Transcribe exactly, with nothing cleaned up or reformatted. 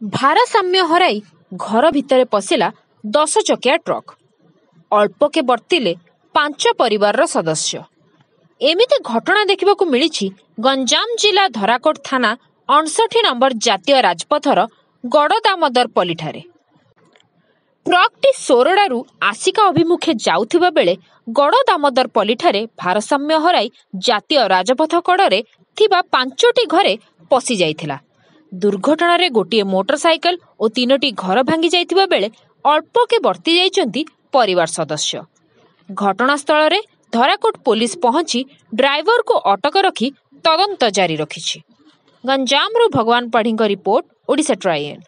ଭାରସାମ୍ୟ ହରାଇ ଘର ଭିତରେ ପଶିଲା ଦଶ ଚକିଆ ଟ୍ରକ୍। ଅଳ୍ପକେ ବର୍ତ୍ତିଲେ ପାଞ୍ଚ ପରିବାରର ସଦସ୍ୟ। ଏମିତି ଘଟଣା ଦେଖିବାକୁ ମିଳିଛି ଗଞ୍ଜାମ ଜିଲ୍ଲା ଧରାକୋଟ ଥାନା ଅଣଷଠି ନମ୍ବର ଜାତୀୟ ରାଜପଥର ଗଡ଼ଦାମୋଦରପଲ୍ଲୀଠାରେ। ଟ୍ରକ୍ଟି ସୋରଡ଼ାରୁ ଆସିକା ଅଭିମୁଖେ ଯାଉଥିବା ବେଳେ ଗଡ଼ଦାମୋଦରପଲ୍ଲୀଠାରେ ଭାରସାମ୍ୟ ହରାଇ ଜାତୀୟ ରାଜପଥ କଡ଼ରେ ଥିବା ପାଞ୍ଚଟି ଘରେ ପଶି ଯାଇଥିଲା। ଦୁର୍ଘଟଣାରେ ଗୋଟିଏ ମୋଟର ସାଇକେଲ ଓ ତିନୋଟି ଘର ଭାଙ୍ଗି ଯାଇଥିବା ବେଳେ ଅଳ୍ପକେ ବର୍ତ୍ତି ଯାଇଛନ୍ତି ପରିବାର ସଦସ୍ୟ। ଘଟଣାସ୍ଥଳରେ ଧରାକୋଟ ପୋଲିସ ପହଞ୍ଚି ଡ୍ରାଇଭରକୁ ଅଟକ ରଖି ତଦନ୍ତ ଜାରି ରଖିଛି। ଗଞ୍ଜାମରୁ ଭଗବାନ ପାଢ଼ୀଙ୍କ ରିପୋର୍ଟ, ଓଡ଼ିଶା ଟ୍ରାଇଏନ୍।